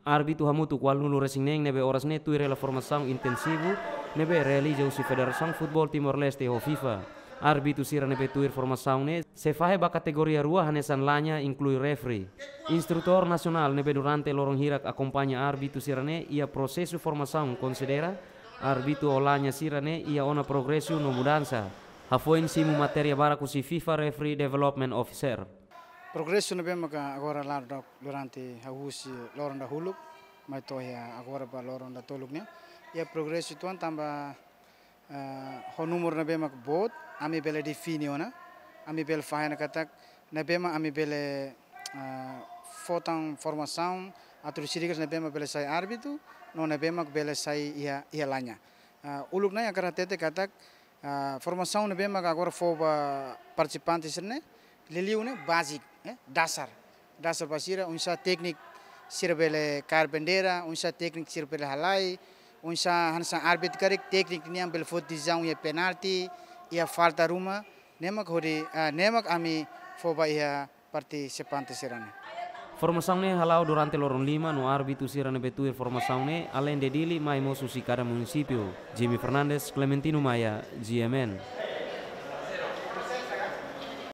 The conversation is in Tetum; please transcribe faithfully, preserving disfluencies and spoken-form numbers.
Árbitru hamutuk ualunulu resin neen ne'ebé oras ne'e tuir hela formasaun intensivu ne'ebé realiza husi Federasaun Futeból Timor-Leste ho FIFA. Árbitru sira ne'ebé tuir formasaun ne'e sei fahe ba kategoria rua hanesan La Ña, inklui refri. Instrutór nasionál ne'ebé durante loron hirak akompaña árbitru sira ne'e iha prosesu formasaun konsidera árbitru ho La Ña sira ne'e iha ona progresu no mudansa. Hafoin simu matéria barak husi FIFA Referee Development Officer. Progresu ne'ebé maka agora la'o durante hahú husi loron dahuluk mai to'o iha agora ba loron datoluk ne'e. Iha progresu tuan tanba, eh, ho númeru ne'ebé mak boot, ami bele define ona, ami bele fahe ona katak ne'ebé mak ami bele, eh, fó tan formasaun atu husi regras ne'ebé mak bele sai árbitru, no ne'ebé mak bele sai iha, iha La Ña. Eh, uluk ne'e hakarak hatete katak, ah, formasaun ne'ebé maka agora fó ba partisipante sira ne'e, liuliu ne'e basic, eh, dasar. Dasar ba sira, oinsá tékniku sira bele kaer bandeira, oinsá tékniku sira bele halai, oinsá hanesan árbitru karik tékniku nian bele foti desizaun iha penalti, iha falta ruma, ne'e mak hodi, ah, ne'e mak ami fó ba iha partisipante sira ne'e. Formasaun ne'e hala'o durante loron lima no árbitru sira ne'ebé tuir formasaun ne'e, alende Dili, mai mós husi kada munisípiu. Jimmy Fernandes, Clementino Maia, G M N.